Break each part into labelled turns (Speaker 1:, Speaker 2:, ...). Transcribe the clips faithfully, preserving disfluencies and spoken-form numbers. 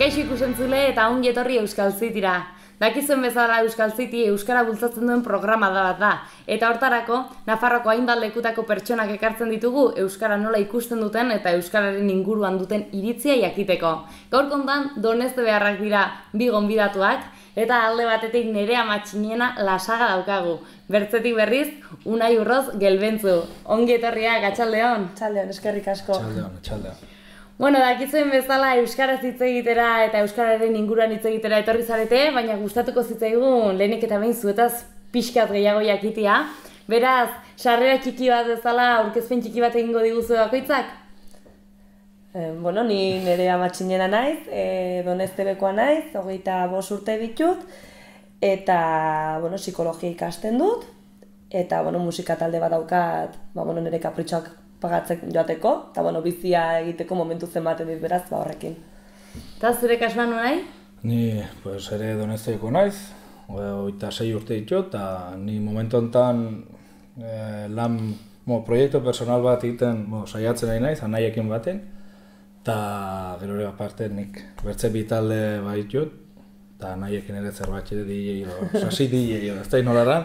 Speaker 1: Kaixo ikusentzule eta ongi etorri Euskal Citira. Dakizuen bezala Euskal City euskara bultzatzen duen programa da bat da. Eta hortarako, Nafarroko hainbat lekutako pertsonak ekartzen ditugu euskara nola ikusten duten eta euskararen inguruan duten iritzia jakiteko. Gaur kontan, Donezte beharrak dira bi gonbidatuak, eta alde batetik Nerea Matxinena Lasaga daukagu. Bertzetik berriz, Unai Urroz Gelbentzu. Ongi etorriak, atxaldeon.
Speaker 2: Atxaldeon, eskerrik asko.
Speaker 3: Atxaldeon, atxaldeon.
Speaker 1: Bueno, dakizuen bezala euskaraz hitz egitera eta euskararen inguruan hitz egitera etorri zarete, baina gustatuko zitzaigun lehenik eta behin zuetaz pixkat gehiago jakitea. Beraz, sarrera txiki bat bezala aurkezpen txiki bat egingo diguzu bakoitzak?
Speaker 2: Eh, bueno, ni Nerea Matxinena naiz, eh, Doneztebekoa naiz, hogeita bost urte ditut, eta bueno, psikologia ikasten dut, eta bueno, musika talde bat daukat, ba, bueno, nire kapritxoak pagatzek joateko, eta bueno, bizia egiteko momentu zenbaten dit beraz, ba horrekin.
Speaker 1: Eta zure kasuan nahi?
Speaker 3: Ni pues, ere Donezteko naiz, hogeita sei urte ditut, eta ni momentu honetan eh, lan, mo, proiektu personal bat egiten mo, saiatzen nahi naiz, anaiekin baten, eta gero ere aparte nik bertze bi talde bat ditut, eta anaiekin ere zerbait ere D J, sasi D J, ez da inolara,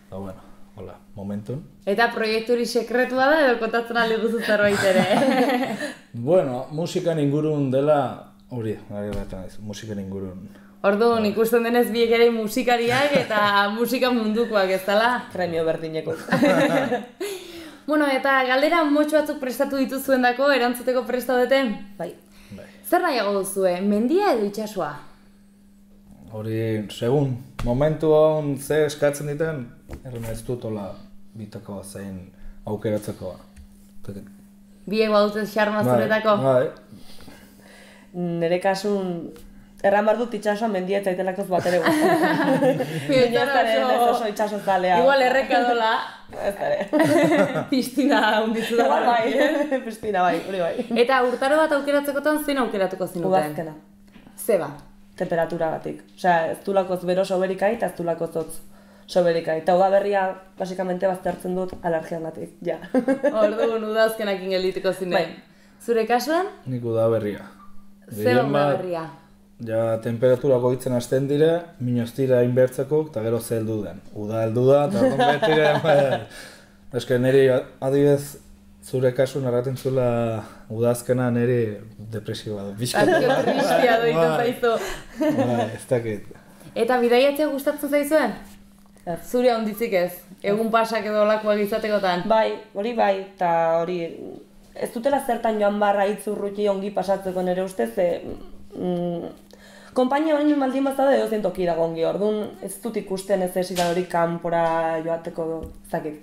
Speaker 3: eta bueno, hola, momentun.
Speaker 1: Eta proiekturi sekretua da edo kontatzen aldi guzu zerbait ere?
Speaker 3: Bueno, musikan ingurun dela, hori, gari bat naiz, musikan ingurun.
Speaker 1: Orduan, ikusten denez biek ere musikariak eta musika mundukoak ez dela?
Speaker 2: Premio berdineko.
Speaker 1: Bueno, eta galdera motxo batzuk prestatu dituzuen dako, erantzuteko prestaudete?
Speaker 2: Bai.
Speaker 3: Bai.
Speaker 1: Zer nahiago duzue, mendia edo itxasua?
Speaker 3: Hori, segun, momentu hon ze eskatzen diten, erren ez dut hola bitako zein aukeratzekoa.
Speaker 1: Biek badute xarma zuretako?
Speaker 3: Bai,
Speaker 2: Nire kasun, erran behar dut itxasua mendia eta itelakoz bat ere gustatzen. Baina ez oso itxaso zalea.
Speaker 1: Igual erreka dola.
Speaker 2: Ez ere.
Speaker 1: Pistina hunditu da.
Speaker 2: Igual bai, pistina bai, hori bai.
Speaker 1: Eta urtaro bat aukeratzekotan zein aukeratuko zinuten?
Speaker 2: Udazkena.
Speaker 1: Zeba?
Speaker 2: Temperaturagatik. Osea, ez dulakoz bero soberikai eta ez dulakoz hotz soberikai. Eta udaberria, basikamente, baztertzen dut alergiagatik, ja.
Speaker 1: Orduan udazkenakin geldituko zinen.
Speaker 2: Bai.
Speaker 1: Zure kasuan?
Speaker 3: nik udaberria.
Speaker 1: Zeba udaberria?
Speaker 3: Ja, temperatura goitzen hasten dire, minoztira inbertzeko, eta gero ze heldu den. Uda heldu da, eta orduan betire, eske niri adibidez, zure kasun erraten zuela udazkena niri depresioa du.
Speaker 1: Azke tristia doiten zaizu.
Speaker 3: Bai, ez dakit.
Speaker 1: Eta bidaiatzea gustatzen zaizuen? Zure handitzik ez? Egun pasak edo olakoak izatekotan?
Speaker 2: Bai, hori bai, eta hori, ez dutela zertan joan barra itzurruti ongi pasatzeko nire ustez, ze, mm, konpainia baino baldin bazaude edo zentoki dago ongi, orduan ez dut ikusten ez esidan hori kanpora joateko zakit.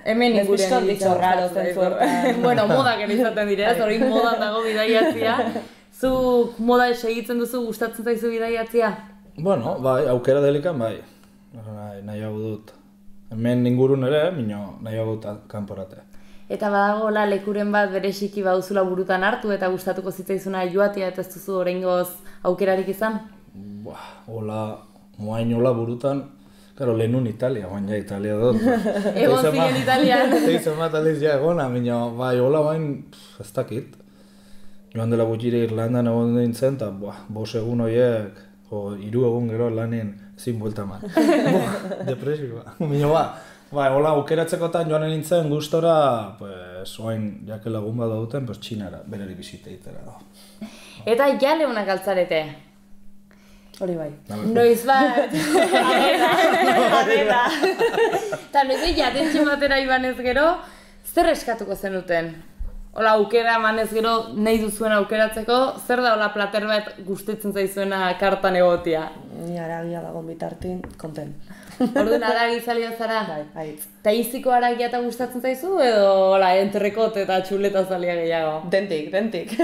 Speaker 1: Hemen
Speaker 2: Ez bizko
Speaker 1: ingurean
Speaker 2: ditxo raro zentzu hortan.
Speaker 1: Bueno, modak ere izaten dira, hori modan dago bidaiatzia. Zuk moda segitzen duzu, gustatzen zaizu bidaiatzia?
Speaker 3: Bueno, bai, aukera delikan bai. Nahi, nahiago dut. Hemen ingurun ere, mino nahiago dut kanporate.
Speaker 1: Eta badagoela lekuren bat bereziki baduzula burutan hartu eta gustatuko zitzaizuna joatea eta ez duzu oraingoz aukerarik izan?
Speaker 3: Buah, hola, moain hola burutan, claro, lehenun Italia, baina ja Italia dut.
Speaker 1: Egon ziren Italian.
Speaker 3: Teizen bat aldiz ja egona, mino, bai, hola bain, ez dakit. Joan dela gutxire Irlandan egon nintzen, eta bos egun horiek, o, hiru egun gero lanien ezin buelta man. Depresioa. Mino, ba, ba, hola, aukeratzekotan joan nintzen gustora, pues, oain, jake lagun bat duten, pues, Txinara, berari bizite itera.
Speaker 1: Eta jale honak altzarete.
Speaker 2: Hori bai.
Speaker 1: Noiz bat.
Speaker 2: Arrela.
Speaker 1: Eta noiz jatentxe batera ibanez gero, zer eskatuko zenuten? Hola, aukera emanez gero nahi duzuen aukeratzeko, zer da hola plater bat gustatzen zaizuena kartan egotia?
Speaker 2: Ni aragia dago bitartin, konten.
Speaker 1: Orduan aragi zalia zara?
Speaker 2: Bai, haitz.
Speaker 1: Eta iziko aragia eta gustatzen zaizu edo hola, entrekot eta txuleta zalia gehiago?
Speaker 2: Dentik, dentik.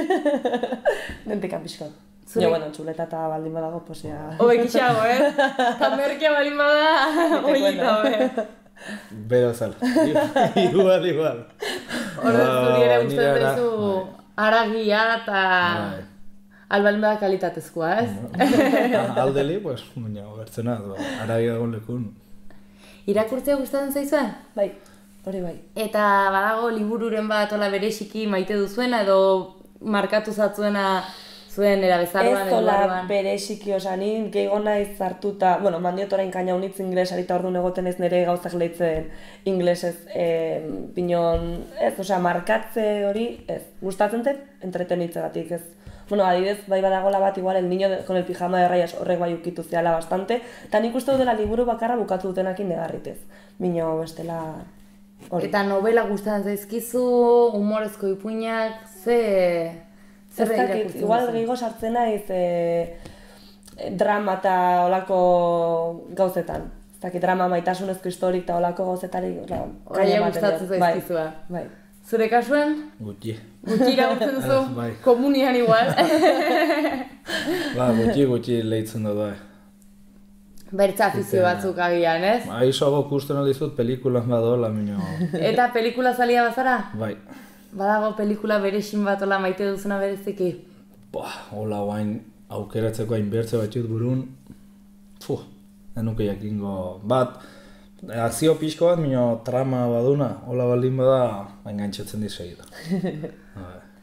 Speaker 2: Dentik apiskot.
Speaker 1: Zure...
Speaker 2: Jo, bueno, txuleta eta baldin badago, pues ya...
Speaker 1: Hobekitxago, eh? Eta merkia baldin bada, oita, be.
Speaker 3: Bero zala. Igual, igual.
Speaker 1: Horrez zuri ere gustatzen zaizu aragia eta... Albalin bada kalitatezkoa, ez?
Speaker 3: Aldeli, pues, baina, bertzena, aragia dagoen lekun.
Speaker 1: Irakurtzea gustatzen zaizue?
Speaker 2: Bai, hori bai.
Speaker 1: Eta badago libururen bat ola bereziki maite duzuena edo markatu zatzuena Zuen erabezaroan
Speaker 2: ez dola bereziki, oza, ni gehiago naiz hartuta, bueno, mandiot orain kaina unitz inglesari eta orduan egoten ez nire gauzak lehitzen inglesez, e, pinon, ez, oza, markatze hori, ez, gustatzen zen, entretenitzegatik, ez. Bueno, adibidez, bai badagola bat, igual, el niño de, con el pijama de rayas horrek bai ukitu zehala bastante, eta nik uste dela liburu bakarra bukatu dutenakin negarritez. Bino, bestela, hori.
Speaker 1: Eta novela gustatzen zaizkizu, humorezko ipuinak, ze...
Speaker 2: Ez dakit, igual gehiago sartzen naiz e, drama eta olako gauzetan. Ez dakit, drama maitasunezko historik eta olako gauzetarik.
Speaker 1: Oia gustatzen zaizkizua.
Speaker 2: Bai.
Speaker 1: Zure kasuen?
Speaker 3: Gutxi.
Speaker 1: Gutxi iragutzen duzu?
Speaker 3: Bai.
Speaker 1: Komunian igual.
Speaker 3: Ba, gutxi, gutxi lehitzen dut, bai.
Speaker 1: Bertza afizio batzuk agian, ez?
Speaker 3: Ba, isoago kusten aldizut pelikulan badola, minio.
Speaker 1: Eta pelikula zalia bazara?
Speaker 3: Bai.
Speaker 1: Badago pelikula berexin bat ola maite duzuna bereziki?
Speaker 3: Ba, hola guain aukeratzeko hainbertze batxut burun, fuh, denuke jakingo bat, akzio pixko bat, minio trama baduna, hola baldin bada, engaintzatzen dizegida.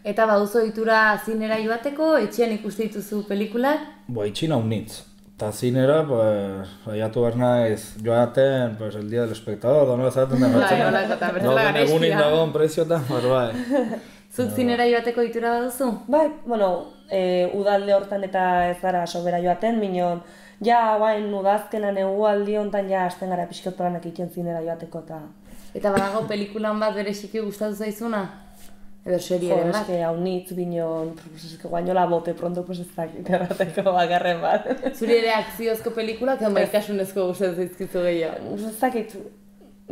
Speaker 1: Eta baduzu ohitura zinera joateko, etxean ikuste dituzu pelikulak?
Speaker 3: Ba, itxina unitz. Eta zinera, pues, aiatu behar naiz joaten, pues, el día del espectador, donola zaten da
Speaker 1: Bai, hola, eta bertzela garestia.
Speaker 3: Egunin dagoen prezioetan, pues, bai.
Speaker 1: Zuk zinera joateko ohitura baduzu?
Speaker 2: Bai, bueno, e, udalde hortan eta ez gara sobera joaten, minon, ja, guain, udazkena negualdi hontan ja hasten gara pixkot planak egiten zinera joateko eta...
Speaker 1: Eta badago pelikulan bat bereziki gustatu zaizuna? Edo serie
Speaker 2: Jo,
Speaker 1: ere bat?
Speaker 2: eske haunitz, binon, pues, eske guainola bote pronto, pues ez dakit errateko bakarren bat.
Speaker 1: Zuri ere akziozko pelikulak, edo maitasunezko gustatzen zaizkizu gehiago?
Speaker 2: Ez dakit,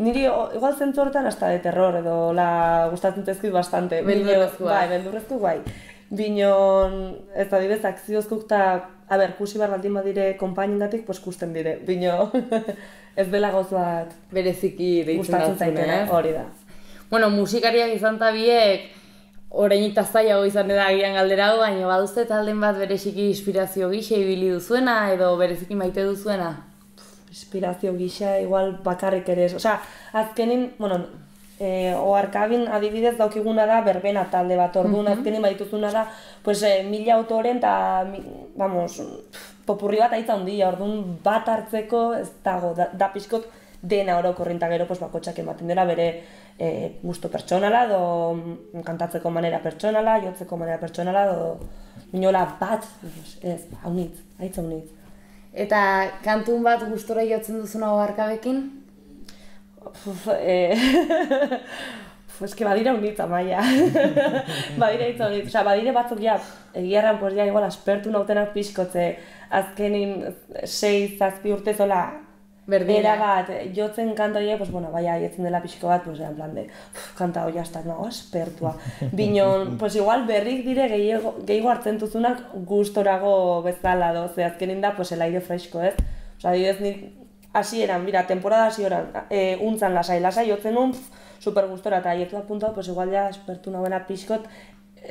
Speaker 2: niri o- igual zentzu hortan hasta de terror, edo la gustatzen zaizkit bastante.
Speaker 1: Beldurrezkoak.
Speaker 2: Bai, beldurrezko bai. Binon, ez da dibez, akziozkuk eta, a ber, kusi bar baldin badire konpainingatik, pues kusten dire. Bino, ez dela gauz bat
Speaker 1: Bereziki deitzen
Speaker 2: gustatzen
Speaker 1: datzune,
Speaker 2: zaitena,
Speaker 1: ez?
Speaker 2: hori da.
Speaker 1: Bueno, musikariak izan ta biek, orainik zailago izan da agian galdera hau, baina baduzte talden bat bereziki inspirazio gisa ibili duzuena edo bereziki maite duzuena?
Speaker 2: Inspirazio gisa, igual bakarrik ere ez. Osea, azkenin, bueno, e, oarkabin adibidez daukiguna da berbena talde bat, orduan azkenin badituzuna da, pues, e, mila autoren eta, mi- vamos, popurri bat aitza handia, orduan bat hartzeko ez dago, da, da pixkot dena orokorrin eta gero pues, bakotxak ematen dira bere e, gusto pertsonala, edo kantatzeko manera pertsonala, jotzeko manera pertsonala, edo inola bat, ez, haunitz, aitza haunitz.
Speaker 1: Eta kantun bat gustora jotzen duzuna oharkabekin?
Speaker 2: Uf, eh... Uf, eske badira unitz, Amaia. badira hitz unitz, osea, badire batzuk ja, egiarran, pues ja, igual, aspertu nautenak pixkotze, azkenin sei, zazpi urte zola,
Speaker 1: Berdina.
Speaker 2: era bat, jotzen kanta horiek, pues bueno, bai, aietzen dela pixko bat, pues en plan de, uf, kanta hori hasta, no, aspertua. Binon, pues igual berrik dire gehiago, gehiago hartzen duzunak gustorago bezala do, ze azkenin da, pues el aire fresko, ez? Osea, adibidez, nik hasieran, mira, temporada hasieran, e, untzan lasai, lasai jotzen un, super gustora, eta aietu apuntatu, pues igual ja aspertu nagoena pixkot,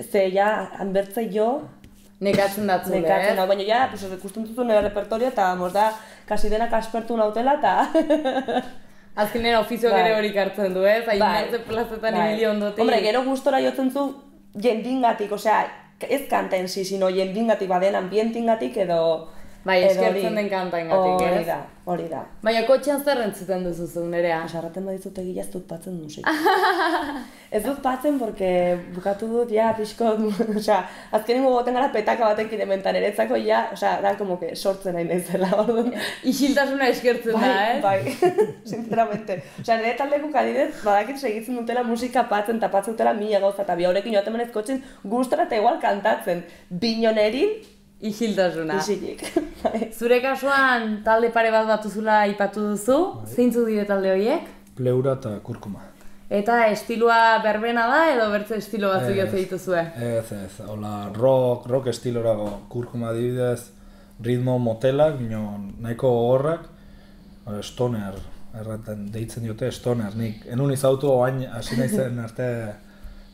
Speaker 2: ze ja, hanbertze jo,
Speaker 1: Nekatzen datzule,
Speaker 2: nekatzen
Speaker 1: ez?
Speaker 2: hau, baina ja, pues, ikusten duzu nire repertorio, eta mos da, kasi denak aspertu nautela, eta...
Speaker 1: Azkenean ofizioak
Speaker 2: Bai.
Speaker 1: ere horik hartzen du, ez? Hain
Speaker 2: Bai.
Speaker 1: hartze plazetan
Speaker 2: Bai.
Speaker 1: ibili ondotik.
Speaker 2: Hombre, gero gustora jotzen zu jendingatik, osea, ez kanten si, sino jendingatik, baden ambientingatik edo...
Speaker 1: Bai,
Speaker 2: edo
Speaker 1: eskertzen
Speaker 2: hori-
Speaker 1: den kantaingatik, ez?
Speaker 2: Hori da, hori da.
Speaker 1: Baina kotxean zer entzuten duzu zu, Nerea?
Speaker 2: Sarraten badizut egia ez dut patzen musik. Ez dut patzen, porque bukatu dut, ja, pixko, osea, azkenin gogoten gara petaka batekin hementan eretzako, ja, osea, da, como que sortzen nahi naizela, orduan.
Speaker 1: Isiltasuna eskertzen da, ez?
Speaker 2: Bai, sinceramente. Osea, nire taldeko adibidez, badakit segitzen dutela musika patzen, eta patzen dutela mila gauza, eta bi horrekin joaten menez kotxen gustora eta igual kantatzen. Binonerin,
Speaker 1: Isiltasuna.
Speaker 2: isilik. Bai.
Speaker 1: Zure kasuan talde pare bat batuzula aipatu duzu, zeintzuk dire talde horiek?
Speaker 3: Pleura eta kurkuma.
Speaker 1: Eta estilua berbena da edo bertze estilo batzuk
Speaker 3: Ez.
Speaker 1: jotzen dituzue?
Speaker 3: Ez, ez, hola, rock, rock estilorago, kurkuma adibidez, ritmo motelak, minon, nahiko gogorrak, eh, stoner, erraten deitzen diote stoner, nik enun izautu oain hasi naizen arte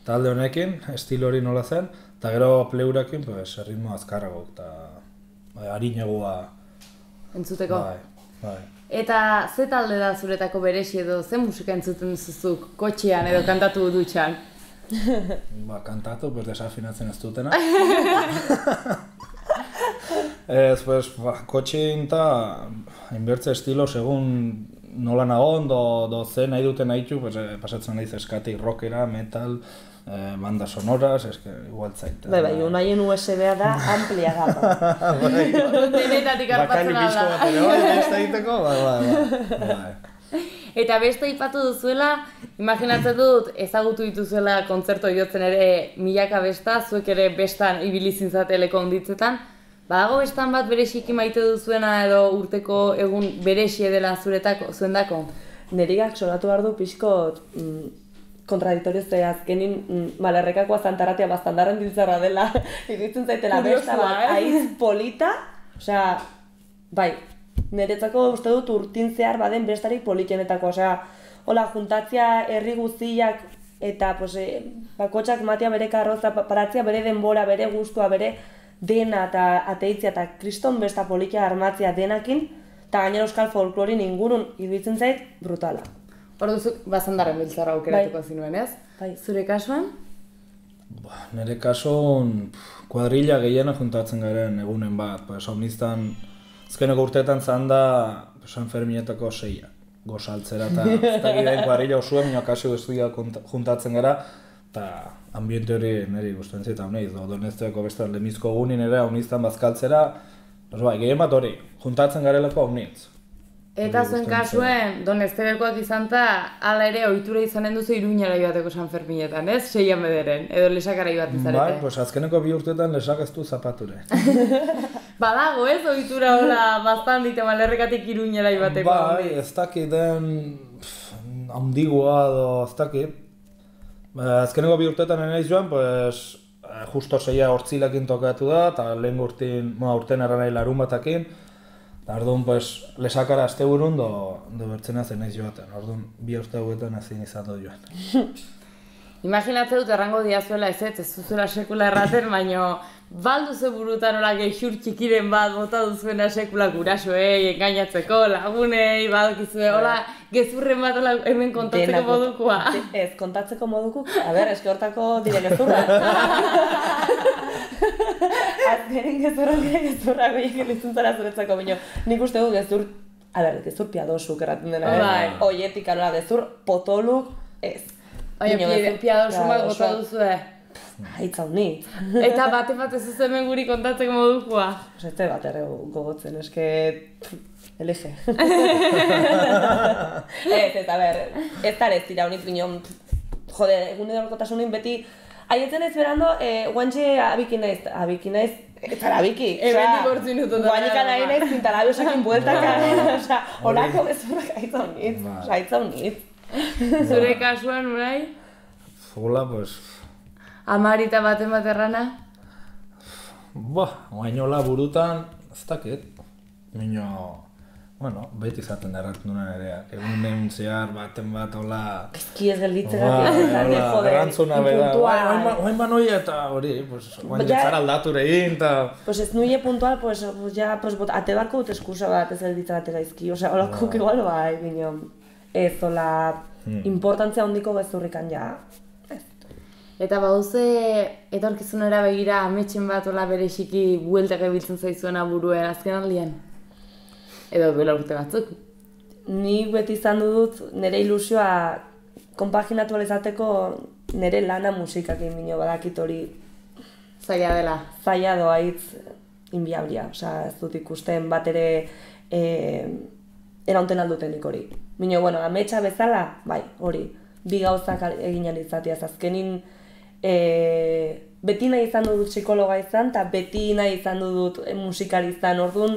Speaker 3: talde honekin, estilo hori nola zen, eta gero pleurakin, pues, ritmo azkarrago, eta bai, harinegua,
Speaker 1: Entzuteko?
Speaker 3: bai, bai.
Speaker 1: Eta ze talde da zuretako beresi edo ze musika entzuten duzuzuk kotxean edo kantatu dutxan?
Speaker 3: ba, kantatu, pues desafinatzen ez dutena. Ez, pues, ba, kotxein eta hainbertze estilo, segun nola nagon, do, do ze nahi duten nahitu, pues, eh, pasatzen nahiz eskatik rockera, metal, eh, banda sonoras, eske, igual zaita.
Speaker 2: Bai, bai, unaien U S B-a da amplia gama.
Speaker 1: Denetatik arpatzen
Speaker 3: Bakalik bizko
Speaker 1: da.
Speaker 3: bat ere, bai, beste egiteko, bai, bai, bai.
Speaker 1: Eta beste aipatu duzuela, imaginatzen dut ezagutu dituzuela kontzerto jotzen ere milaka besta, zuek ere bestan ibili zintzateleko onditzetan. Badago bestan bat bereziki maite duzuena edo urteko egun berezie dela zuretako, zuendako?
Speaker 2: Nerigak sonatu behar du pixkot mm, kontradiktorio ze azkenin mm, malerrekakoa zantaratea bastandarren diltzarra dela, iruditzen zaitela besta bat,
Speaker 1: eh?
Speaker 2: aiz polita, osea, bai, niretzako uste dut urtin zehar baden bestarik politenetako, osea, hola, juntatzea herri guztiak eta pues, eh, bakotxak matea bere karroza, paratzea bere denbora, bere gustua, bere dena eta ateitzia eta kriston besta politia armatzea denakin, eta gainera euskal folklorin ingurun iruditzen zait brutala.
Speaker 1: Hor duzu, bazandarren biltzarra aukeratuko zinuen, ez?
Speaker 2: Bai.
Speaker 1: Zure kasuan?
Speaker 3: Ba, nire kasuan kuadrilla gehiena juntatzen garen egunen bat, pues, omniztan, azkeneko urteetan zan da San Ferminetako seia. Gozaltzera eta ez da giren kuadrilla osuen, minua kasi guztia juntatzen gara, eta ambiente hori niri gustatzen zait hauneiz, do Donezteko beste lemizko egunin ere hauniztan bazkaltzera, pues, bai, gehien bat hori, juntatzen garelako haunitz.
Speaker 1: Eta zuen kasuen, Doneztekoak izan ta, ala ere ohitura izanen duzu Iruñera joateko San Ferminetan, ez? Seian bederen, edo lesakara joaten zarete.
Speaker 3: Bai, pues azkeneko bi urteetan lesak ez du zapature.
Speaker 1: Badago, ez? Ohitura hola bastan dite malerrekatik Iruñera joateko.
Speaker 3: Bai, ez dakit den handigoa edo ez dakit. Azkeneko bi urteetan enaiz joan, pues, justo seia hortzilekin tokatu da, eta lehen urtin, bueno, urten erra nahi larun batakin, eta orduan, pues, lesakara asteburun do, do bertzena zen naiz joaten, orduan bi urte hauetan ezin izan dut joan.
Speaker 1: Imaginatze dut errango diazuela ez ez, ez duzuela sekula erraten, baino baldu ze burutan hola gehur txikiren bat bota duzuena sekula gurasoei, engainatzeko, lagunei, badokizue, hola gezurren bat hola hemen kontatzeko modukoa.
Speaker 2: Ez, kontatzeko modukuk, a ber, eske hortako dire gezurra. Azkenin gezurrak dire gezurra goiek elitzen zara zuretzako, baina nik uste du gezur, a ber, gezur piadosuk erraten dena,
Speaker 1: Bai.
Speaker 2: Oietik anola gezur potoluk, ez.
Speaker 1: Baina piadosu bat bota duzue.
Speaker 2: Haitza honit.
Speaker 1: Eta bate bat ez ez hemen guri kontatzeko modukoa.
Speaker 2: Ez bat ere gogotzen, eske... Elige. Ez, ez, a ber, ez da ez dira honit bineon, jode, egun edorkotasunin beti, haietzen ez berando, eh, guantxe abiki naiz, abiki naiz, ez zara abiki.
Speaker 1: Ebendik hortzi minutu da.
Speaker 2: Guanika nahi naiz, pintalabiosakin bueltaka, osea, holako gezurrak haitza honit, haitza honit.
Speaker 1: Zure kasuan, Unai?
Speaker 3: Hola, pues...
Speaker 1: Amarita baten bat errana?
Speaker 3: Ba, oainola burutan, ez dakit. Mino, bueno, beti izaten da erraten duna ere, egun neun zehar baten bat, hola...
Speaker 2: Ezki ez gelditzegatik, jode,
Speaker 3: errantzuna beda, oain ba noi eta hori, pues, oain jetzara aldature egin, eta...
Speaker 2: Pues ez nuie puntual, pues, ja, pues, ate barko dut eskusa bat ez gelditzegatik gaizki, osea, holako igual bai, bineon, ez, hola, importantzia handiko gezurrikan ja.
Speaker 1: Eta bauze etorkizunera begira ametxen bat hola bereziki bueltak ebiltzen zaizuena buruen azken aldian? Edo duela urte batzuk?
Speaker 2: Nik beti izan dut nire ilusioa konpaginatu izateko nire lana musikakin bino badakit hori
Speaker 1: zaila dela.
Speaker 2: Zaila doa hitz inbiablia, osea ez dut ikusten bat ere e, eraunten aldutenik hori. Bino, bueno, ametsa bezala, bai, hori, bi gauzak egin alizatiaz azkenin E, beti nahi izan dut psikologa izan, eta beti nahi izan dut musikari izan, orduan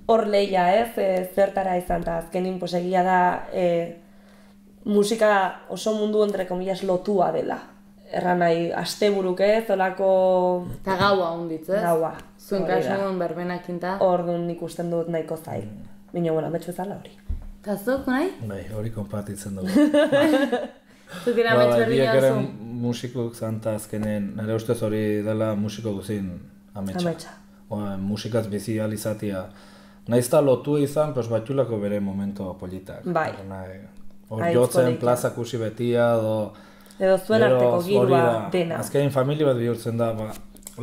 Speaker 2: hor lehia ez, e, zertara izan, eta azkenin pues, egia da e, musika oso mundu entre komillas lotua dela. Erran nahi, asteburuk ez, olako...
Speaker 1: Eta gaua honditz, ez?
Speaker 2: Gaua.
Speaker 1: Zuen kasuan berbenakinta.
Speaker 2: Orduan ikusten dut nahiko zail. Bino, bueno, ametsu ezala hori.
Speaker 1: Eta zuk, nahi?
Speaker 3: Bai, hori konpartitzen dugu.
Speaker 1: Zuk ira ametsu berdina
Speaker 3: biak ere
Speaker 1: zu?
Speaker 3: musikuk zanta azkenen, nire ustez hori dela musiko guzin ametsa.
Speaker 2: Ametsa.
Speaker 3: Oa, musikaz bizi alizatia. Naizta lotu izan, pues batxulako bere momento politak.
Speaker 2: Bai.
Speaker 3: Hor jotzen, plazak usi betia, do...
Speaker 2: Edo zuen arteko girua dena.
Speaker 3: Azkenin familia bat bihurtzen da, ba,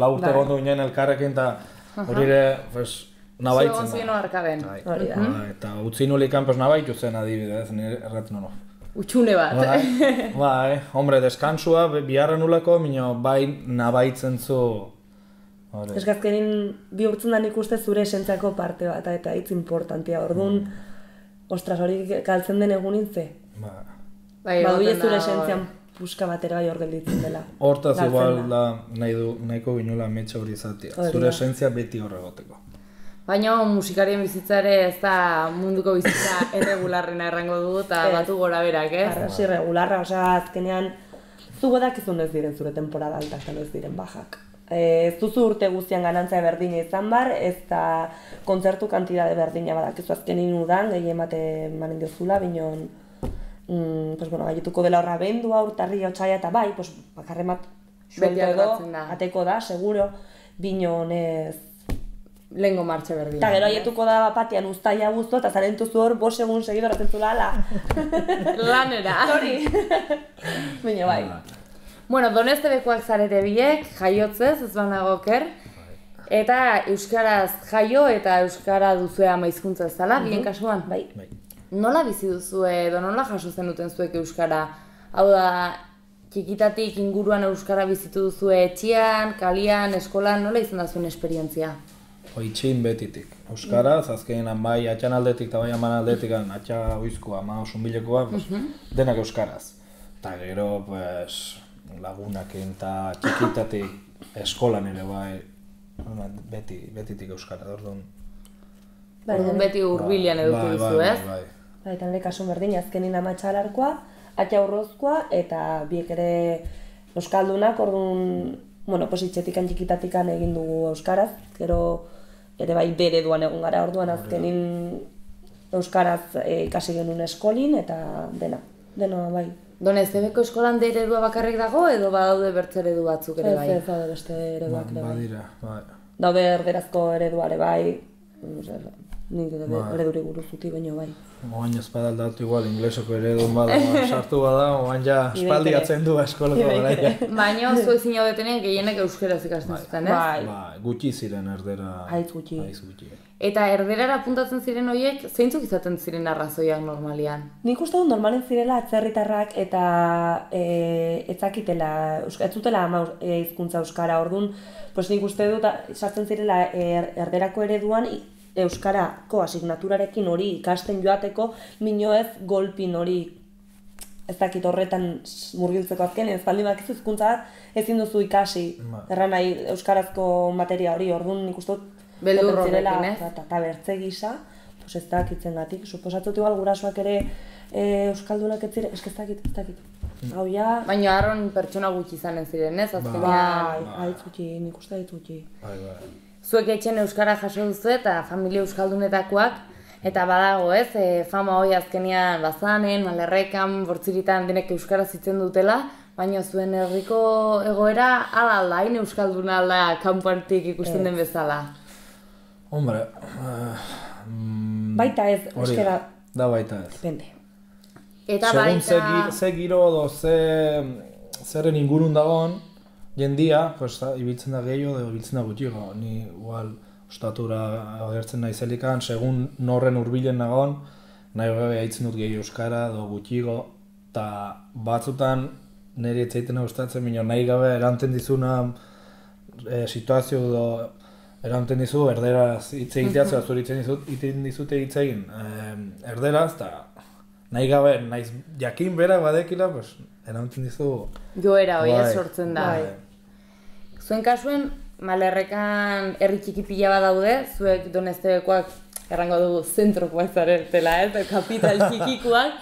Speaker 3: lau urte gondu ginen elkarrekin, eta hori ere, pues, nabaitzen da.
Speaker 1: Zuen arkaben.
Speaker 3: Hori da. Eta utzi nulikan, pues, nabaitu zen adibidez, nire erraten no.
Speaker 1: Utxune bat.
Speaker 3: Bai, bai, hombre, deskansua, biharra nulako, minio, bai nabaitzen zu.
Speaker 2: Ez gazkenin bihurtzen da nik uste zure esentziako parte bat, eta hitz importantia, orduan, ostras, hori galtzen den egunin ze.
Speaker 3: Ba.
Speaker 2: Baduie zure esentzian puska batera bai hor gelditzen dela.
Speaker 3: Hortaz igual da nahi du, nahiko ginula metxa hori izatea. Zure esentzia beti horregoteko.
Speaker 1: Baina musikarien bizitza ere ez da munduko bizitza erregularrena errango du eta batu gora berak, ez?
Speaker 2: Arras irregularra, osea, azkenean zugo dakizun ez diren zure temporada altak eta ez diren bajak. Ez duzu urte guztian ganantza berdina izan bar, ez da kontzertu kantidade berdina badakizu azkenin udan, gehien bate manen diozula, binon, mm, pues bueno, gaituko dela horra bendua, urtarria, otxaia eta bai, pues bakarremat suelto edo, ateko da, seguro, binon ez...
Speaker 1: Lehengo martxe berdina.
Speaker 2: Eta gero aietuko da bapatean uztaia guztu, eta zarentuzu hor, bos egun segido ratzen zula, ala.
Speaker 1: Lanera.
Speaker 2: Hori. Bino bai.
Speaker 1: Bueno, Donestebekoak zarete biek, jaiotzez, ez banago oker, eta euskaraz jaio eta euskara duzue ama hizkuntza ez dela, bien kasuan?
Speaker 2: Bai.
Speaker 1: Nola bizi duzue edo nola jaso zenuten zuek euskara? Hau da, txikitatik inguruan euskara bizitu duzue etxean, kalian, eskolan, nola izan da zuen esperientzia?
Speaker 3: Itxin betitik. Euskaraz, azkenean bai atxan aldetik eta bai aman aldetik, atxa oizkoa, ama osunbilekoa, pues, denak euskaraz. Eta gero, pues, lagunakin eta txikitatik eskolan ere bai, beti, betitik euskara, orduan.
Speaker 1: Orduan beti hurbilean eduki duzu, ez?
Speaker 3: Bai,
Speaker 2: bai. Eta nire kasun berdin, azkenin amatxa alarkoa, atxa urrozkoa, eta biek ere euskaldunak, orduan, bueno, pues itxetikan txikitatikan egin dugu euskaraz, gero ere bai bere duan egon gara, orduan azkenin euskaraz ikasi genuen eskolin, eta dena, dena bai.
Speaker 1: Donestebeko eskolan de eredua bakarrik dago, edo badaude bertze eredu batzuk ere bai?
Speaker 2: Ez, ez, daude beste ereduak ere bai.
Speaker 3: Badira, bai.
Speaker 2: Daude erderazko ereduare bai, nik ereduri guruzuti baino bai.
Speaker 3: Oain ez badaldatu igual, inglesoko eredun bada, sartu bada, oain ja espaldi atzen du eskoloko garaia.
Speaker 1: Baina zuek zina betenean gehienek euskeraz ikasten zuten, ez?
Speaker 3: Bai, gutxi ziren erdera.
Speaker 2: Haitz gutxi.
Speaker 1: Eta erderara apuntatzen ziren horiek, zeintzuk izaten ziren arrazoiak normalian?
Speaker 2: Nik uste dut normalen zirela atzerritarrak eta ez zakitela, ez zutela ama hizkuntza euskara, orduan, pues nik uste dut sartzen zirela erderako ereduan euskarako asignaturarekin hori ikasten joateko, mino ez golpin hori ez dakit horretan murgiltzeko azken, ez baldin bakizu hizkuntza bat ezin duzu ikasi, erran nahi euskarazko materia hori, orduan nik uste dut
Speaker 1: beldur horrekin, ez?
Speaker 2: Eta bertze gisa, pues ez dakitzen gatik, suposatzot igual gurasoak ere euskaldunak ez ziren, ez dakit, ez dakit. Hau ja...
Speaker 1: Baina harron pertsona gutxi izanen ziren, ez?
Speaker 2: Bai, haitz gutxi, nik uste haitz gutxi.
Speaker 3: Bai, bai.
Speaker 1: Zuek etxen euskara jaso duzu eta familia euskaldunetakoak, eta badago ez, e, fama hori azkenean bazanen, malerrekan, bortziritan denek euskara zitzen dutela, baina zuen herriko egoera ala alda, hain euskalduna alda kanpoartik ikusten den bezala.
Speaker 3: Hombre, uh, mm,
Speaker 2: baita ez, euskara...
Speaker 3: Da baita ez.
Speaker 2: Depende.
Speaker 1: Eta
Speaker 3: segun
Speaker 1: baita...
Speaker 3: ze giro edo ze, zeren ingurun dagoen, jendia, pues, ibiltzen da gehiago edo ibiltzen da gutxiago. Ni igual ostatura agertzen naizelikan, segun norren hurbilen nagoen, nahi gabe haitzen dut gehiago euskara edo gutxiago, eta batzutan niri etzaiten gustatzen, baina nahi gabe eranten dizuna e, situazio edo eranten dizu erderaz hitz egiteaz, uh -huh. zuri iten dizute hitz egin e, erderaz, eta nahi gabe, naiz jakin berak badekila, pues, eranten dizu...
Speaker 1: Joera hori ez sortzen da.
Speaker 2: Bai.
Speaker 1: Zuen kasuen, malerrekan herri txiki pila bat daude, zuek Donestebekoak errango dugu zentrokoak zaretela, ez, kapital txikikoak.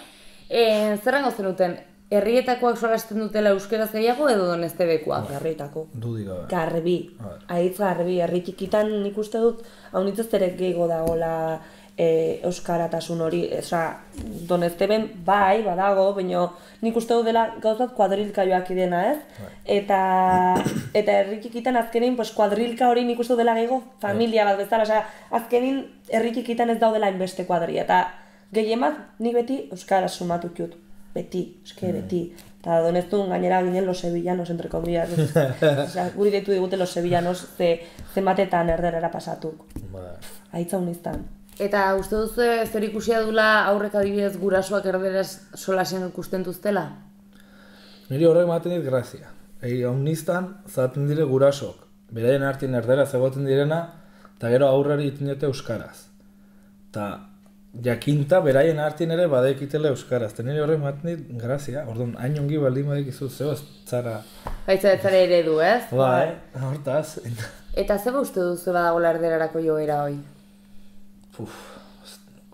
Speaker 1: E, Zerrango zenuten, herrietakoak solasten dutela euskeraz gehiago edo Donestebekoak?
Speaker 2: Herrietako.
Speaker 3: Dudik gabe.
Speaker 2: Garbi, haitz garbi, herri txikitan nik uste dut, hau nitzazterek gehiago dagoela e, euskaratasun hori, eza, Donesteben bai, badago, baina nik uste dut dela gauzat kuadrilka joak idena, ez? Eta eta herri txikitan azkenin, pues, kuadrilka hori nik uste dut dela gehiago familia bat bezala, osea, azkenin herri txikitan ez daudela inbeste kuadria, eta gehien bat nik beti euskara sumatut jut. beti, eske beti. Eta doneztun gainera ginen los sevillanos, entre comillas. Osea, guri deitu digute los sevillanos, ze, zenbatetan erderera pasatuk. Aitza uniztan.
Speaker 1: Eta uste duzu zer ikusia dula aurrek adibidez gurasoak erderaz solasen ikusten duztela?
Speaker 3: Niri horrek ematen dit grazia. Egi, hau niztan, zaten dire gurasok. Beraien artin erderaz egoten direna, eta gero aurrari iten dute euskaraz. Eta jakinta beraien artin ere badekitela euskaraz. Eta niri horrek ematen dit grazia. Orduan, hain ongi baldin badekizu zeo ez zara...
Speaker 1: Baitza ez zara eredu, ez?
Speaker 3: Bai, hortaz.
Speaker 1: Eta zeba uste duzu badagoela erderarako joera hoi?
Speaker 3: Uf,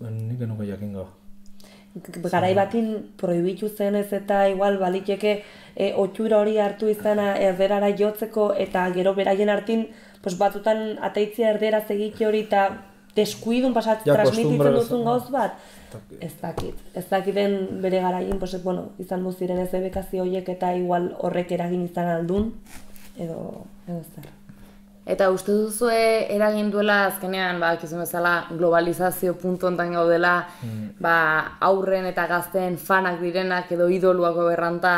Speaker 3: nik enuko jakingo.
Speaker 2: Garai batin prohibitu zenez eta igual baliteke e, otxura hori hartu izana erderara jotzeko eta gero beraien hartin pues, batutan ateitzia erderaz egite hori eta deskuidun pasat ja, transmititzen duzun gauz bat. Ez dakit. Ez dakiten bere garaien pues, bueno, izan muziren ez ebekazio horiek eta igual horrek eragin izan aldun edo, edo zer.
Speaker 1: Eta uste duzue eragin duela azkenean, ba, kizun bezala, globalizazio puntu hontan gaudela, mm. ba, aurren eta gazteen fanak direnak edo idoluako berranta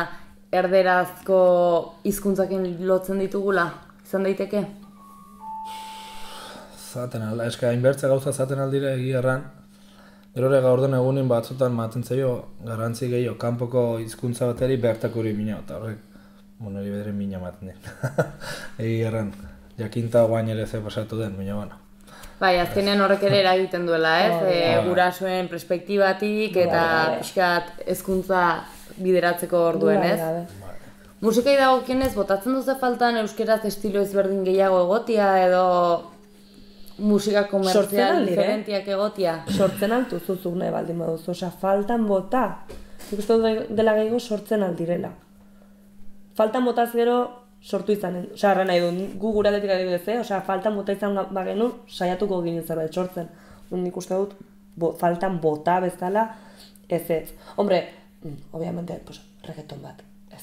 Speaker 1: erderazko hizkuntzakin lotzen ditugula, izan daiteke?
Speaker 3: Zaten alda, eska hainbertze gauza zaten aldire egia erran. Gero ere gaurden egunin batzutan maten zaio garrantzi gehiago, kanpoko hizkuntza bateri bertako hori mina, eta horrek, bueno, hori bederen mina maten dira. Egia erran. Jakinta guain ere ze pasatu den, baina bueno.
Speaker 1: Bai, azkenean horrek ere eragiten duela, ez? Oh, e, gurasoen perspektibatik eta pixkat hezkuntza bideratzeko orduen, ez? Musikai dagokionez, botatzen duzu faltan euskeraz estilo ezberdin gehiago egotia edo musika komertzial diferentiak egotia?
Speaker 2: Sortzen altu zuzuk nahi baldin baduzu, osea, faltan bota. Nik uste dela gehiago sortzen aldirela. Faltan botaz gero sortu izanen, osea, erra nahi du, gu gure aldetik adibidez, eh? Osea, faltan bota izan bagenu, saiatuko ginen zerbait sortzen. Nik uste dut, bo, faltan bota bezala, ez ez. Hombre, obviamente, pues, reggaeton bat, ez.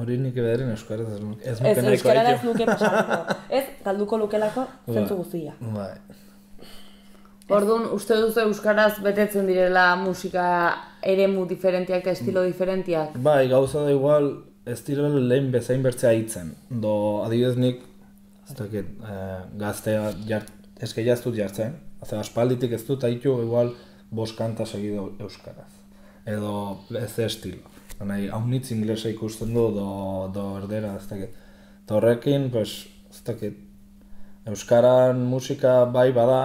Speaker 3: Hori nik ebederen euskaraz ez nuke
Speaker 2: ez nuke nahiko euskaraz ez nuke pasatuko. Ez, galduko lukelako, zentzu guztia.
Speaker 3: Bai.
Speaker 1: Orduan, uste duzu euskaraz betetzen direla musika eremu diferentiak eta estilo diferentiak?
Speaker 3: Bai, gauza da igual, ez direla lehen bezain bertzea hitzen. Do, adibidez nik, ez dakit, eh, gaztea jart, eske jaztut jartzen. Haze, aspalditik ez dut haitu igual bost kanta segido euskaraz. Edo ez estilo. Nahi, haunitz inglesa ikusten du, do, do erdera, ez dakit. Eta horrekin, pues, ez dakit, euskaran musika bai bada,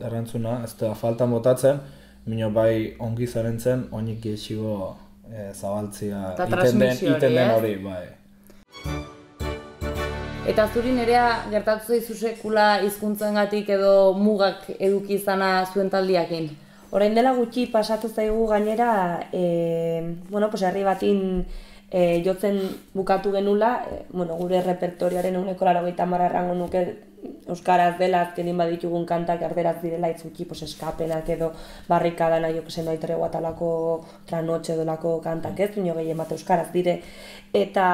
Speaker 3: errantzuna, ez da faltan botatzen, mino bai ongi zaren zen, oinik gehiago e, zabaltzia iten den, iten den hori, bai.
Speaker 1: Eta zuri nerea gertatu zaizu sekula hizkuntzengatik edo mugak eduki izana zuen taldiakin?
Speaker 2: Orain dela gutxi pasatu zaigu gainera, e, bueno, pues herri batin e, jotzen bukatu genula, e, bueno, gure repertorioaren ehuneko laurogeita hamar errango nuke euskaraz dela, azkenin baditugun kantak erderaz direla itzuki, pues eskapenak edo barrikadan aio kesen nahi tregua talako tranotxe dolako kantak ez, baina gehien bat euskaraz dire. Eta,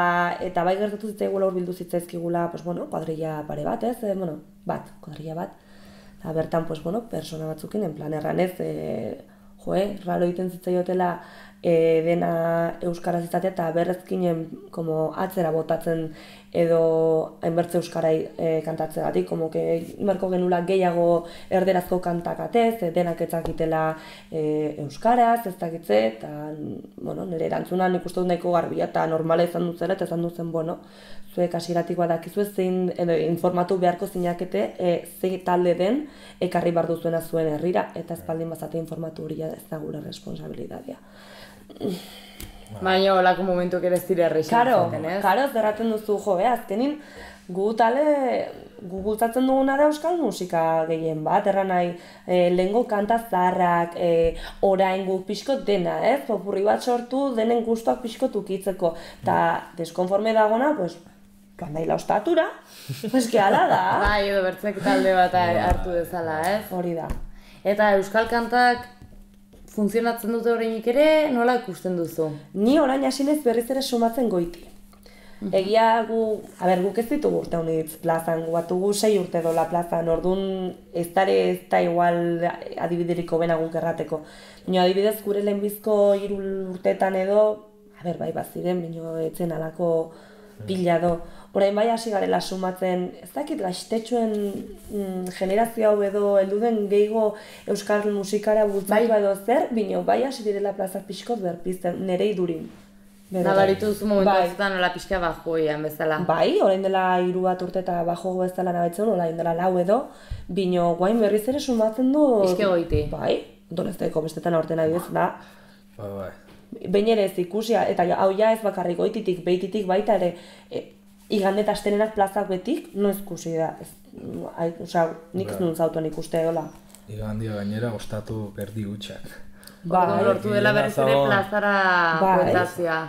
Speaker 2: eta bai gertatu zitzaigula hurbildu zitzaizkigula, pues bueno, kuadrilla pare bat ez, e, bueno, bat, kuadrilla bat. Eta bertan, pues bueno, persona batzukin, en plan erranez, e, joe, raro egiten zitzaiotela e, dena euskaraz izatea eta berrezkinen como atzera botatzen edo hainbertze euskarai e, kantatzegatik, como que imarko genula gehiago erderazko kantak atez, e, denak etzakitela e, euskaraz, ez dakitze, eta bueno, nire erantzunan ikustu dut nahiko garbia eta normala izan duzera, eta izan duzen, bueno, zuek hasieratik badakizu zein edo, informatu beharko zinakete e, zein talde den ekarri bar duzuena zuen herrira, eta espaldin bazate informatu hori ez da gure responsabilitatea.
Speaker 1: Baina holako momentuak ere ez dira errexen
Speaker 2: zaten, ez? Karo, zerraten duzu, jo, eh, azkenin gu tale, gu bultzatzen duguna da euskal musika gehien bat, erran nahi, e, lehengo kanta zaharrak, e, orain guk pixkot dena, ez? Popurri bat sortu denen gustuak pixkot ukitzeko, eta deskonforme dagona, pues, kandaila ostatura, eski ala da.
Speaker 1: Bai, edo bertzek talde bat hartu dezala, ez?
Speaker 2: Hori da.
Speaker 1: Eta euskal kantak funtzionatzen dute orainik ere, nola ikusten duzu?
Speaker 2: Ni orain hasinez berriz ere sumatzen goiti. Egia gu, a ber, guk ez ditugu urte honitz plazan, gu batugu sei urte dola plazan, orduan ez dara ez da igual adibideriko bena guk errateko. Baina adibidez gure lehenbizko hiru urteetan edo, a ber, bai, baziren, bino etzen alako pila do. Orain bai hasi garela sumatzen, ez dakit gaztetxoen mm, generazio hau edo helduden gehiago euskal musikara bultzaiba edo zer, bino bai hasi direla plazak pixkot berpizten, nire idurin.
Speaker 1: Nabaritu duzu momentu batzutan nola pixka bajoian bezala.
Speaker 2: Bai, orain dela hiru bat urte eta bajo bezala nabetzen, orain dela lau edo, bino guain berriz ere sumatzen du...
Speaker 1: Pixke goiti.
Speaker 2: Bai, donezteko bestetan aurten adibidez da.
Speaker 3: Bai, bai.
Speaker 2: Behin ere ez ikusia, eta hau ja ez bakarrik goititik, behititik baita ere, e, igande eta astenenak plazak betik, no ikusi da. Osa, nik ez nuen zautuen ikuste hola.
Speaker 3: Igandia gainera ostatu erdi gutxak.
Speaker 1: Bai, lortu dela berriz ere plazara bueltatzea.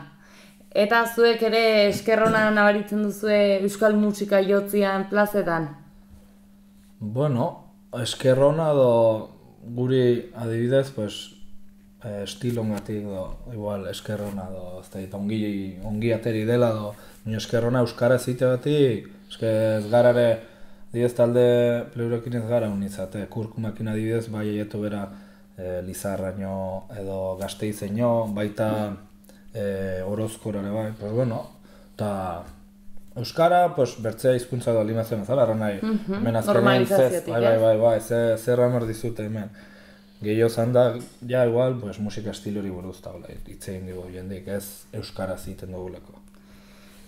Speaker 1: Eta zuek ere eskerrona nabaritzen duzue euskal musika jotzian plazetan?
Speaker 3: Bueno, eskerrona do guri adibidez, pues, estilongatik do, igual, eskerrona do, ez da, ongi, ongi ateri dela do, baina eskerrona euskara ziteagatik, eske ez gara ere, adibidez talde pleurekin ez gara unizate, kurkumakin adibidez, bai eietu bera e, Lizarraino edo Gasteizeño, baita e, Orozkorare bai, pues bueno, eta euskara, pues, bertzea hizkuntza do limazen bezala, erran nahi, hemen azkenean zez, bai, bai, bai, bai, ze, zerra emer dizute hemen. Gehiago zan da, ja, igual, pues, musika estilori buruz da, itzein dugu jendik, ez euskara ziten duguleko.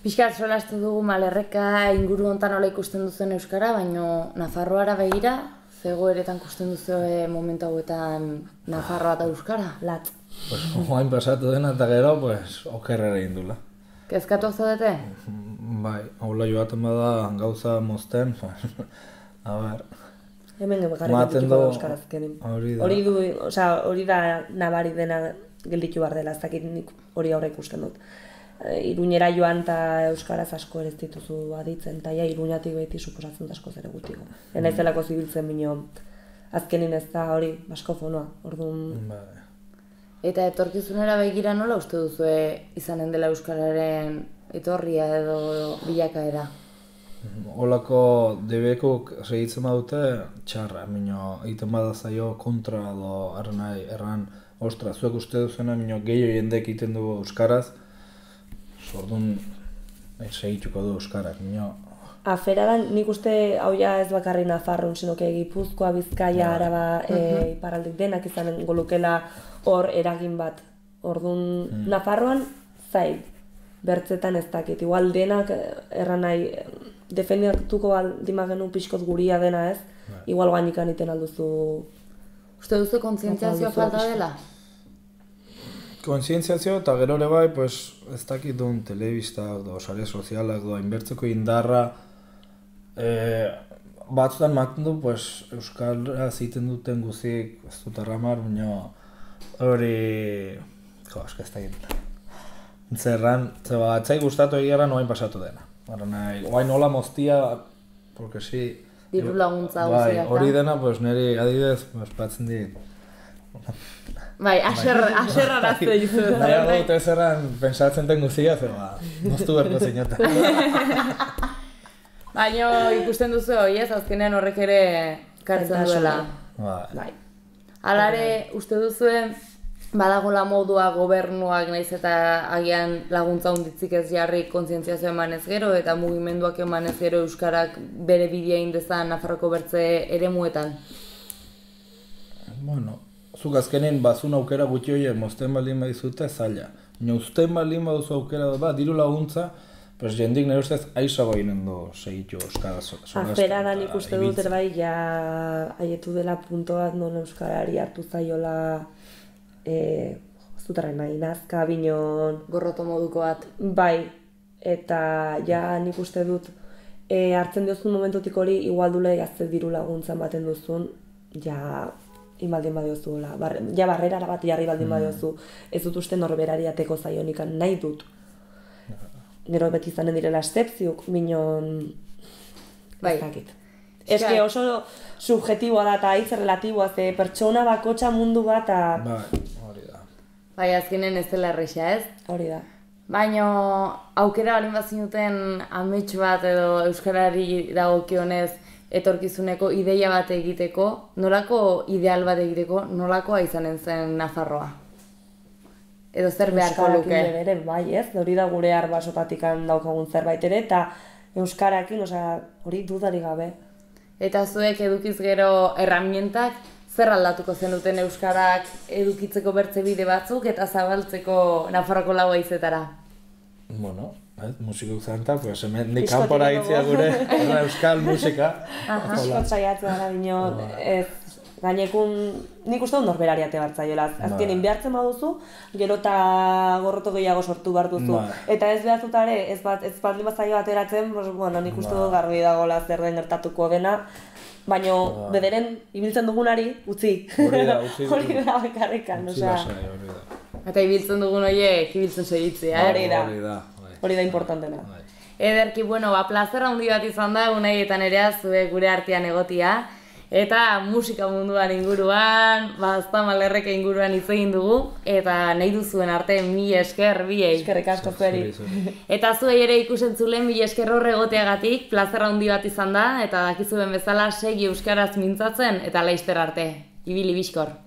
Speaker 1: Piskat solastu dugu Malerreka inguru hontan nola ikusten duzen euskara, baina Nafarroara begira, zegoeretan ikusten duzu momentu hauetan Nafarroa eta euskara, latz.
Speaker 3: Pues, oain pasatu dena eta gero, pues, okerrera indula.
Speaker 1: Kezkatuak zaudete?
Speaker 3: Bai, haula joaten bada gauza mozten, a ber...
Speaker 2: Hemen bakarrik dituko euskarazkenin. Hori du, osea, hori da nabari dena gelditu behar dela, ez dakit nik hori aurre ikusten dut. Iruñera joan eta euskaraz asko ere ez dituzu aditzen, eta ja Iruñatik beti suposatzen da asko zere gutiko. Ena izelako zibiltzen bino, azkenin ez da hori baskofonoa, orduan...
Speaker 1: Eta etorkizunera begira nola uste duzue izanen dela euskararen etorria edo bilakaera?
Speaker 3: Olako debekuk segitzen badute txarra, mino egiten bada zaio kontra edo erran nahi, erran, ostra, zuek uste duzena, mino gehiago jendek egiten dugu euskaraz, orduan segituko du euskarak, mino...
Speaker 2: Aferadan nik uste hau ja ez bakarri Nafarroan, sinoke Gipuzkoa, Bizkaia, Araba, iparraldik denak izanen golukela hor eragin bat. Orduan Nafarroan zait, bertzetan ez dakit, igual denak erran nahi, defendatuko aldima genuen pixkoz guria dena ez, igual gainikan iten alduzu...
Speaker 1: Uste duzu kontzientziazioa falta dela?
Speaker 3: Kontzientziazio eta gero ere bai, pues, ez dakit duen telebistak, do, sare sozialak, do, inbertzeko indarra, e, batzutan maten du, pues, euskara ziten duten guzik, ez dut arramar, baina hori... Jo, eska ez dakit. Zerran, zeba, atzai gustatu egiara noain pasatu dena. Oain hola moztia, porque si...
Speaker 1: Diru laguntza
Speaker 3: bai, hori dena, pues, niri adibidez, pues, batzen dit.
Speaker 1: Bai, aserra arazte dizu.
Speaker 3: Nahiago dute zerran, pentsatzen den guzia, zeba, moztu berko zinota.
Speaker 1: Baina ikusten duzu hori ez, azkenean horrek ere kartzen duela.
Speaker 3: Bai.
Speaker 1: Alare, uste duzue, badagola modua gobernuak naiz eta agian laguntza hunditzik ez jarri kontzientziazio emanez gero eta mugimenduak emanez gero euskarak bere bidea indezan Nafarroko bertze eremuetan?
Speaker 3: Bueno, zuk azkenean bazun aukera gutxi horiek mozten baldin badizute zaila. Baina uzten baldin baduzu aukera dut bat, diru laguntza, pues jendik nire ustez aizago ginen du segitu euskaraz.
Speaker 2: Aferadan ikuste dut erbai, ja haietu dela punto bat non euskarari hartu zaiola E, zutarren nahi, nazka, binon...
Speaker 1: Gorroto moduko bat.
Speaker 2: Bai, eta ja nik uste dut e, hartzen diozun momentutik hori igual dule gazte diru laguntzan baten duzun, ja inbaldin badiozu, bar, ja barrerara bat jarri baldin mm. badiozu, ez dut uste norberari ateko zaionikan nahi dut. Gero beti izanen direla estepziuk, binon...
Speaker 1: Bai.
Speaker 2: Ez dakit. Eske oso subjetiboa da eta hitz relatiboa, ze pertsona bakotxa mundu bat eta...
Speaker 3: Bai, hori da.
Speaker 1: Bai, azkenen ez dela erresa, ez?
Speaker 2: Hori da.
Speaker 1: Baina aukera balin bazinuten amets bat edo euskarari dagokionez etorkizuneko ideia bat egiteko, nolako ideal bat egiteko, nolakoa izanen zen Nafarroa? Edo zer beharko luke?
Speaker 2: Euskarakin ere, bai ez, hori da gure arbasotatik daukagun zerbait ere, eta euskarakin, osea, hori dudari gabe.
Speaker 1: Eta zuek edukiz gero erramientak, zer aldatuko zenuten euskarak edukitzeko bertze bide batzuk eta zabaltzeko Nafarroko lau haizetara?
Speaker 3: Bueno, ez, musikuk zanta, pues hemen nik kanpora itzia gure euskal musika.
Speaker 2: Asko saiatzen gara bino, ez, gainekun, nik uste dut norberari ate bartzaiola. Azkenin behartzen baduzu, gero eta gorroto gehiago sortu behar duzu. Eta ez behartutare, ez bat, ez bat limazaio ateratzen, bueno, nik uste dut garbi dagoela zer den gertatuko dena. Baina bederen ibiltzen dugunari, utzi.
Speaker 3: Hori da, utzi.
Speaker 2: Hori da, bakarrikan, osea.
Speaker 3: Hori da.
Speaker 1: Eta ibiltzen dugun horiek, ibiltzen segitzea,
Speaker 2: Hori da.
Speaker 3: Hori da.
Speaker 2: Hori da importantena.
Speaker 1: Ederki, bueno, ba, plazer handi bat izan da, unaietan ere zuek gure artean egotia. Eta musika munduan inguruan, ba, aztamalerreke inguruan hitz egin dugu. Eta nahi duzuen arte, mila esker, biei.
Speaker 2: Eskerrik asko zueri.
Speaker 1: Eta zuei ere ikusentzulen mila esker hor egoteagatik, plazer handi bat izan da. Eta dakizuen bezala, segi euskaraz mintzatzen, eta laizter arte. Ibili bizkor.